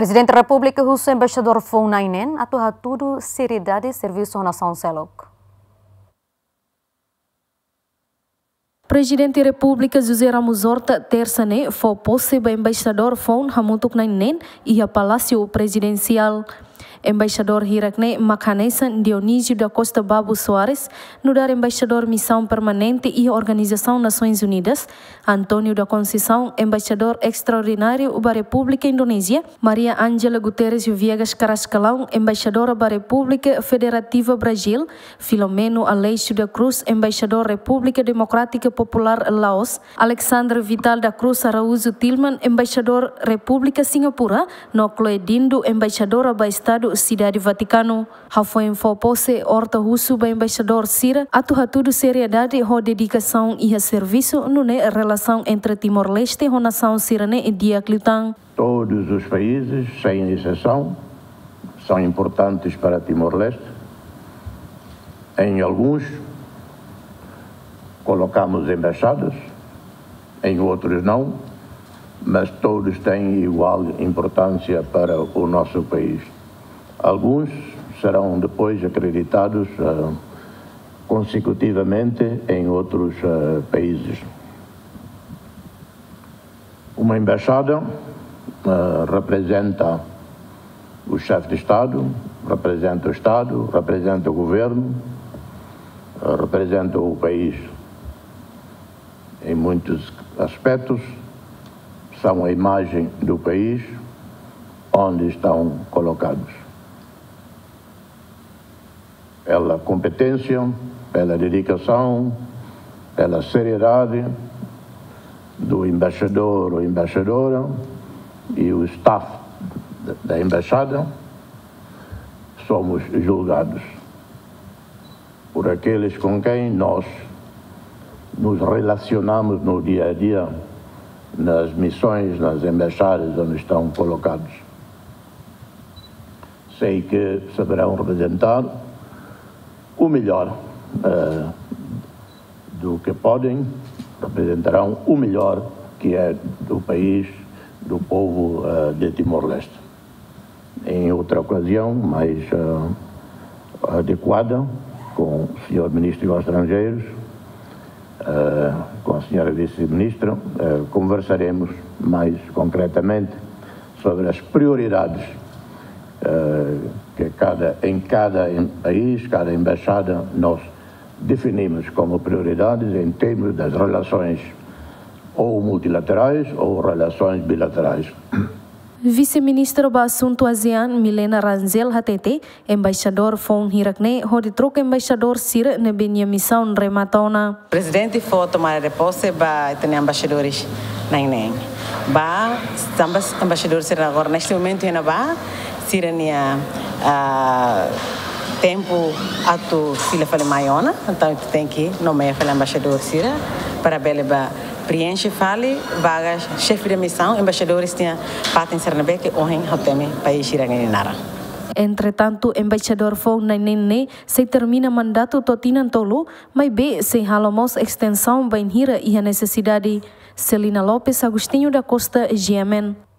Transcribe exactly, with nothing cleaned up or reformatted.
Prezidente Repúblika husu embaixadór foun na'in-neen atu hatudu seriedade servisu ho nasaun seluk. Prezidente Repúblika José Ramos Horta, tersa ne'e, fó pose ba embaixadór foun hamutuk na'in-neen iha Palásiu Prezidensiál. Embaixadór hirak ne'e mak hanesan Dionísio da Costa Babu Soares, nu'udar embaixadór misaun permanente iha Organizasaun Nasoins Unidas, António da Conceição, embaixadór estraordináriu ba Repúblika Indonézia, Maria Ângela Guterres Viegas Carrascalão, embaixadora ba Repúblika Federativa Brazíl, Filomeno Aleixo da Cruz, embaixadór Repúblika Demokrátika Populár Laos, Alexandre Vital da Cruz Araújo Tilman, embaixadór Repúblika Singapura, no Chloe Dindo, embaixadora ba Estadu Sidade Vatikanu. Hafoin fó pose, Horta husu ba embaixadór sira atu hatudu seriedade ho dedikasaun iha servisu, nune'e relasaun entre Timor-Leste ho nasaun sira-ne'e di'ak liután. Todos os países, sem exceção, são importantes para Timor-Leste. Em alguns, colocamos embaixadas, em outros não, mas todos têm igual importância para o nosso país. Alguns serão depois acreditados, ah, consecutivamente em outros, ah, países. Uma embaixada, ah, representa o chefe de Estado, representa o Estado, representa o governo, ah, representa o país. Em muitos aspectos, são a imagem do país onde estão colocados. Pela competência, pela dedicação, pela seriedade do embaixador ou embaixadora e o staff da, da embaixada, somos julgados por aqueles com quem nós nos relacionamos no dia a dia, nas missões, nas embaixadas onde estão colocados. Sei que saberão representar o melhor, eh, do que podem, representarão o melhor que é do país, do povo, eh, de Timor-Leste. Em outra ocasião, mais, eh, adequada, com o senhor Ministro dos Estrangeiros, eh, com a senhora Vice-Ministra, eh, conversaremos mais concretamente sobre as prioridades, eh, que cada, em cada em-, país, cada embaixada, nós definimos como prioridades em termos das relações ou multilaterais ou relações bilaterais. Vise-Ministra ba Asuntu ASEAN, Milena Rangel, hatete, embaixadór foun hirak ne'e hodi troka embaixadór sira ne'ebé nia misaun remata ona. Prezidente fó tomada de pose ba ita-nia embaixadores na'in-neen. Ba, tanba embaixadór sira agora, neste momento, iha ne'ebá, sira-nia, ah, tempu atu fila fali mai ona, entaun ita tenke nomeia fali embaixadór sira para bele ba preenxe fali vaga xefe de misaun, embaixadores nia fatin sira ne'ebé ke ohin ha'u temi país sira-nia naran. Entretantu, embaixadór foun na'in-neen ne'e sei termina mandatu to'o tinan tolu, maibé sei halo mós estensaun bainhira iha nesesidade. Celina Lopes, Agostinho da Costa, G M N.